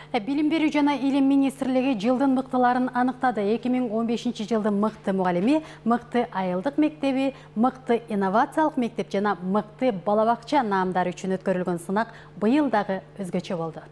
Билим берүү жана илим министрлиги жылдын мыктыларын аныктады. 2015 жылдын мыкты мугалими, мыкты айылдык мектеби, мыкты инновациялык мектеп жана мыкты бала бакча наамдары үчүн өткөрүлгөн сынак быйыл дагы өзгөчө болду.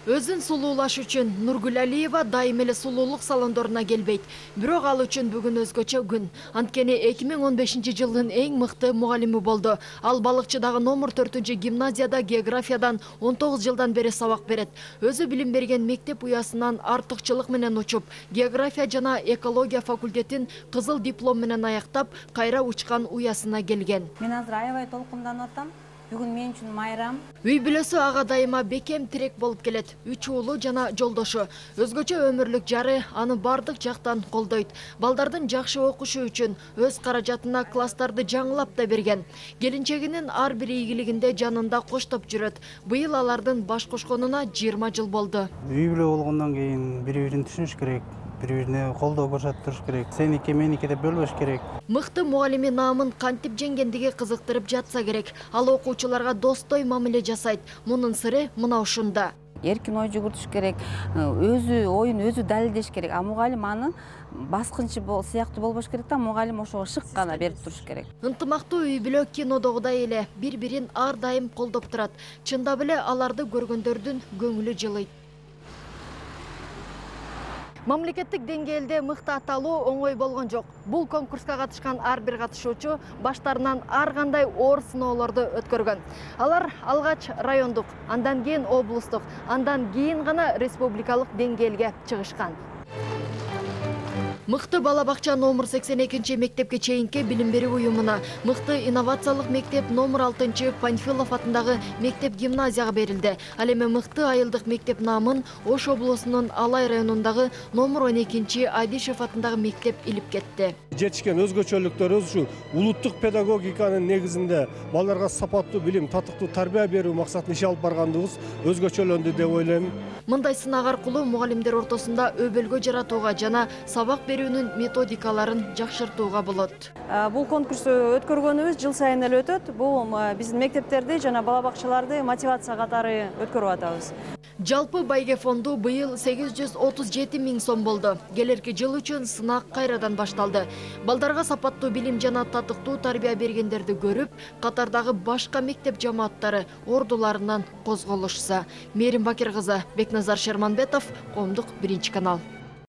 Өзүн сулуулаш үчүн Нургүл Алиева дайым эле сулуулук салондоруна келбейт. Бирок ал үчүн бүгүн өзгөчө күн. Анткени 2015 жылдын эң мыкты мугалими болду. Ал Балыкчыдагы номер 4 гимназияда географиядан 19 жылдан бери сабак берет. Өзү билим берген мектеп уясынан артыкчылык менен учуп, география жана экология факультетин кызыл диплом менен аяктап, кайра учкан уясына келген. Мен азыр аябай толкунданып атам. Бүгүн мен үчүн майрам. Үй бүлөсү ага дайыма бекем тирек болуп келет. 3 уулу жана жолдошу. Өзгөчө өмүрлүк жары аны бардык жактан колдойт. Балдардын жакшы окушу үчүн өз каражатына класстарды жаңылап да берген. Келинчегинин ар бир ийгилигинде жанында коштоп жүрөт. Быйыл алардын баш кошконуна 20 жыл болду. Үй бүлө болгондон кийин бири-бирин түшүнүш керек. Бири-бирине колдоо көрсөтүш керек. Сеники меники деп бөлбөш керек. Мыкты мугалими наамын кантип жеңгендиги кызыктырып жатса керек. Ал окуучуларга достой мамиле жасайт. Мунун сыры мына ушунда. Эркин ой жүгүртүш керек, өзү оюн өзү далилдеш керек. А мугалим аны баскынчы сыяктуу болбош керек да, мугалим ошого шык гана берип туруш керек. Ынтымактуу үй бүлө кинодогудай эле бири-бирин ар дайым колдоп турат. Чындап эле аларды көргөндөрдүн көңүлү жылыйт. Мамлекеттик деңгээлде мыкты аталуу оңой болгон жок. Бул конкурска катышкан ар бир катышуучу баштарынан ар кандай оор сыноолорду өткөргөн. Алар алгач райондук, андан кийин облустук, андан кийин гана республикалык деңгээлге чыгышкан. Мыкты бала бакча номер 82 мектепке чейинки билим берүү уюмуна, мыкты инновациялык мектеп номер 6 Панфилов атындагы мектеп гимназияга берилди. Ал эми мыкты айылдык мектеп наамын Ош облусунун Алай районундагы номер 12 Адишев атындагы мектеп илип кетти. Жетишкен өзгөчөлүктөрүбүз ушу улуттук педагогиканын негизинде балдарга сапаттуу билим, татыктуу тарбия берүү максатын иш алып баргандыгыбыз өзгөчөлөндү деп ойлойм. Мындай сынак аркылуу мугалимдер ортосунда өбөлгө жаратууга жана сабак берүүнүн методикаларын жакшыртууга болот. Бул конкурсту өткөргөнүбүз жыл сайын эле өтөт. Бул биздин мектептерди жана бала бакчаларды мотивация катары өткөрүп атабыз. Жалпы байге фонду быйыл 837 000 сом болду. Келерки жыл үчүн сынак кайрадан башталды. Балдарга сапаттуу билим жана татыктуу тарбия бергендерди көрүп, катардагы башка мектеп жамааттары ордуларынан козголушса. Мерим Бакир кызы, Бекназар Шерманбетов, Коомдук 1 канал.